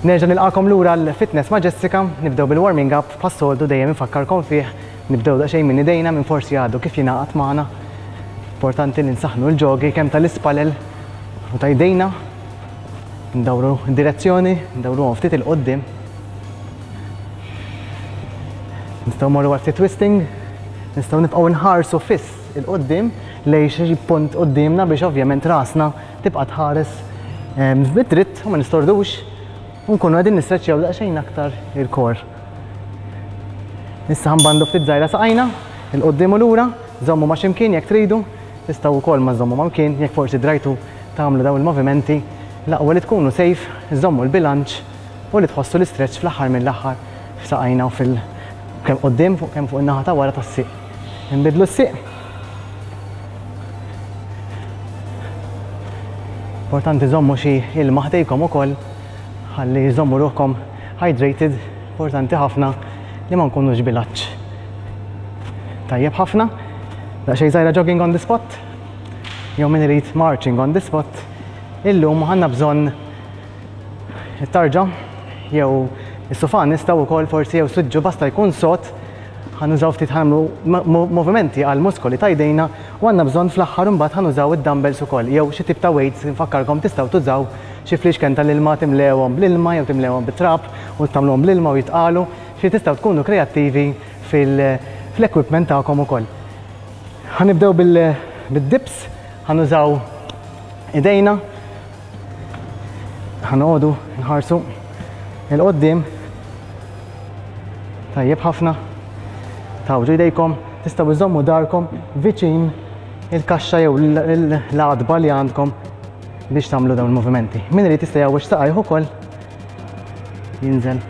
Nerġa' nilqagħkom lura l-Fitness ma' Jessica, nibdew bil-warming up bħas-soltu dejjem infakkarkom fih, nibdew daqsxejn minn idejna min forsi għadu kif jingħaqad magħna. Importanti li nsaħħnu l-ġogi kemm tal-ispalel u ta' jdejna. Ndawru d-direzzjoni, ndawruhom ftit 'il quddiem. Nistgħu mmorru għal ftit twisting, nistgħu nibqgħu nħarsu fiss 'il quddiem lejn xi punt quddiemna biex ovvjament rasna tibqa' tħares bid-dritt u ma nistordux u nkunu qegħdin nistreċċjaw daqsxejn aktar il-core. Issa ħanbandu ftit żgħira saqajna, 'il quddiem u lura, żommu ma' x'imkien jekk tridu, tistgħu wkoll ma żommu ma' mkien jekk forsi drajtu tagħmlu dawn il-movimenti, l-aqwa li tkunu safe, żommu l-bilanċ u li tħossu l-istretch fl-aħħar mill-aħħar f'saqajna u fil kemm quddiem fuq kemm fuq in-naħa ta' wara tas-sieq. Inbiddlu s-sieq. Importanti żommu xi ilma ħdejkom ukoll ħalli żommu ruħkom hydrated, importanti ħafna li ma nkunux bil-għatx. Tajjeb ħafna. Daqsxejn żgħira jogging on the spot. Jew min irid marching on the spot. Illum għandna bżonn it-tarġa jew is-sufan nistgħu wkoll forsi jew suġġu basta jkun sod ħa nużaw ftit ħa nagħmlu movimenti għal muskoli ta' jdejna u għandna bżonn fl-aħħar imbagħad ħa nużaw id-dumbbells ukoll jew xi tip ta' weights infakkarkom tistgħu tużaw xi fliexken tal-ilma timlewhom bl-ilma jew timlewhom bit-trab u tagħmluhom bl-ilma u jitqalu xi tistgħu tkunu kreattivi fil-equipment tagħkom ukoll. Ħa nibdew bil-dips, ħa nużaw idejna, ħa noqogħdu nħarsu 'il quddiem. Tajjeb ħafna. Tgħawġu jdejkom, tistgħu iżommu darkom viċin il-kaxxa jew l-għatba li għandkom biex tagħmlu dawn il-movimenti. Min irid jista' jgħawweġ saqajh ukoll jinżel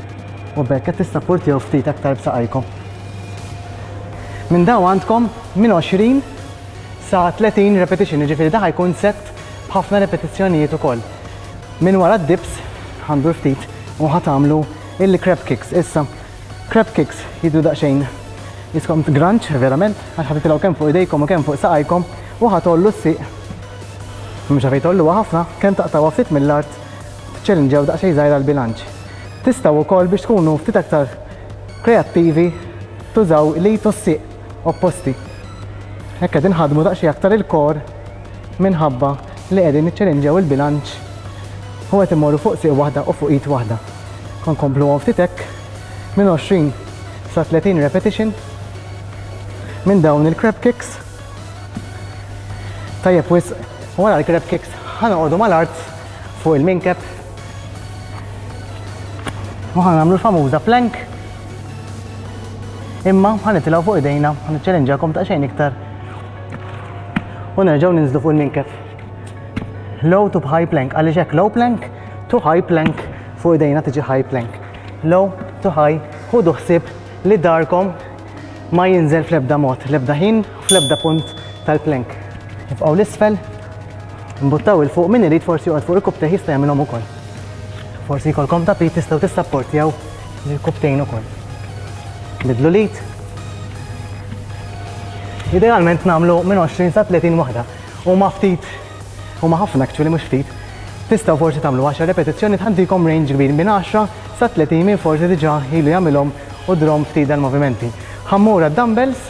u b'hekk qed tissapportjaw ftit aktar b'saqajkom. Minn dawn għandkom minn 20 sa 30 repetition, jiġifieri da jkun set b'ħafna repetizzjonijiet ukoll. Minn wara d-dips ħa ndur ftit u ħa tagħmlu il-crab kicks. Issa, crab kicks jidhru daqsxejn jiskom granċ, verament, għax ħa titilgħu kemm fuq idejkom u kemm fuq saqajkom u ħa tgħollu s-sieq. Mhux għalfejn tgħolluha ħafna, kemm taqtgħuha ftit mill-art tiċċellinġjaw daqsxejn żgħira l-bilanċ. Tistgħu wkoll biex tkunu ftit aktar kreattivi tużaw l-id u s-sieq opposti. Hekk qegħdin ħadmu daqsxejn aktar il-core minħabba li qegħdin niċċellinġjaw il-bilanċ u qed immorru fuq sieq waħda u fuq id waħda. Nkompluhom ftit hekk minn 20 sa 30 repetition minn dawn il-crab kicks. Tajjeb wisq, wara l-crab kicks ħa noqogħdu mal-art fuq il-minkeb u ħa nagħmlu l-famuża plank imma ħa nitilgħu fuq idejna, ħa niċċellinġakom daqsxejn iktar u nerġgħu ninżlu fuq il-minkeb. Low to high plank, għaliex hekk low plank to high plank fuq idejna tiġi high plank. Low to high, ħudu ħsieb li darkom ma jinżel fl-ebda mod, l-ebda ħin, fl-ebda punt tal-plank. Nibqgħu l-isfel, nbuttaw 'il fuq min irid forsi joqgħod fuq il-kubtejh jista' jagħmilhom ukoll. Forsi jkollkom tapit tistgħu tissapportjaw l-kubtejn ukoll. Bidlu l-id. Idealment nagħmlu minn 20 sa 30 waħda. Huma ftit, huma ħafna actually mhux ftit. Tistgħu forsi tagħmlu 10 repetizzjoni ħa ntikom range kbir minn 10 sa 30 min forsi diġà ilu jagħmilhom u drom ftit dal-movimenti. Ħa mmur għad-dumbbells.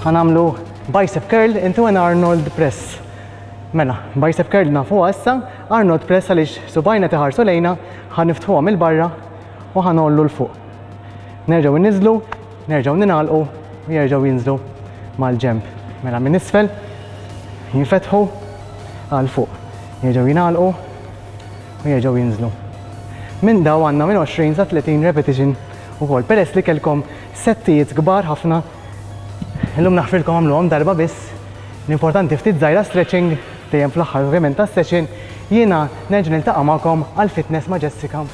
Ħa nagħmlu bicep curl into an Arnold press. Mela, bicep curl nafuha issa, Arnold press għaliex subajna tiħarsu lejna, ħa niftħuha mill-barra u ħa ngħollu 'l fuq. Nerġgħu nniżlu, nerġgħu ningħalqu u jerġgħu jinżlu mal-ġenb. Mela minn isfel jinfetħu għal fuq. Jerġgħu jingħalqu u jerġgħu jinżlu. Minn daw għandna minn 20 sa 30 repetition ukoll. Peress li kellkom settijiet kbar ħafna, illum naħfrilkom għamluhom darba biss. L-importanti ftit żgħira stretching dejjem fl-aħħar ovvjament tas-session. Jiena nerġa' niltaqa' magħkom għal Fitness ma' Jessica.